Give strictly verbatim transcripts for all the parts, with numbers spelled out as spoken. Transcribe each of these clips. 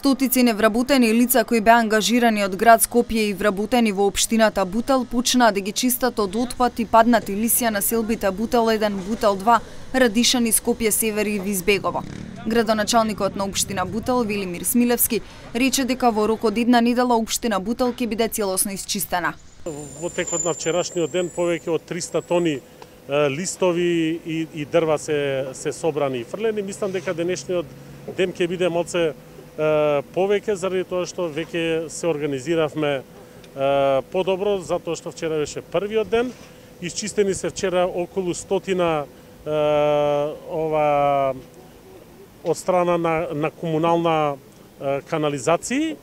Стотици невработени лица кои беа ангажирани од град Скопје и вработени во општината Бутел почнаа да ги чистат од отпад и паднати лисја на селбите Бутел еден, Бутел два, Радишани, Скопје Север и Визбегово. Градоначалникот на општина Бутел Велимир Смилевски рече дека во рок од една недела општина Бутел ќе биде целосно исчистена. Во текот на вчерашниот ден повеќе од триста тони листови и, и дрва се се собрани и фрлени. Мислам дека денешниот ден ќе биде малце повеќе заради тоа што веќе се организиравме подобро, затоа што вчера беше првиот ден. Исчистени се вчера околу стотина ова од страна на, на комунална канализација.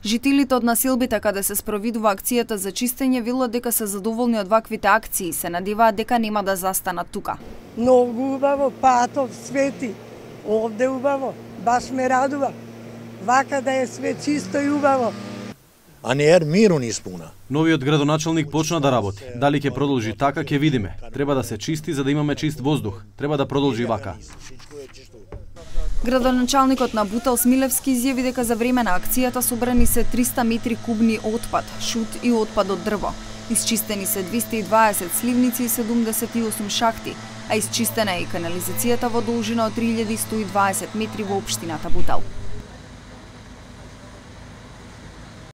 Жителите од населбите каде се спровидува акцијата за чистење велат дека се задоволни од ваквите акции и се надеваат дека нема да застанат тука. Многу убаво, патов, свети, овде убаво, баш ме радува. Вака да е све чисто и убаво. А не е мирно ни испуна. Новиот градоначалник почна да работи. Дали ќе продолжи така, ќе видиме. Треба да се чисти за да имаме чист воздух. Треба да продолжи вака. Градоначалникот на Бутел Смилевски изјави дека за време на акцијата собрани се триста метри кубни отпад, шут и отпад од дрво. Isчистени се двесте и дваесет сливници и седумдесет и осум шахти, а исчистена е и канализацијата во должина од три илјади сто и дваесет метри во општината Бутел.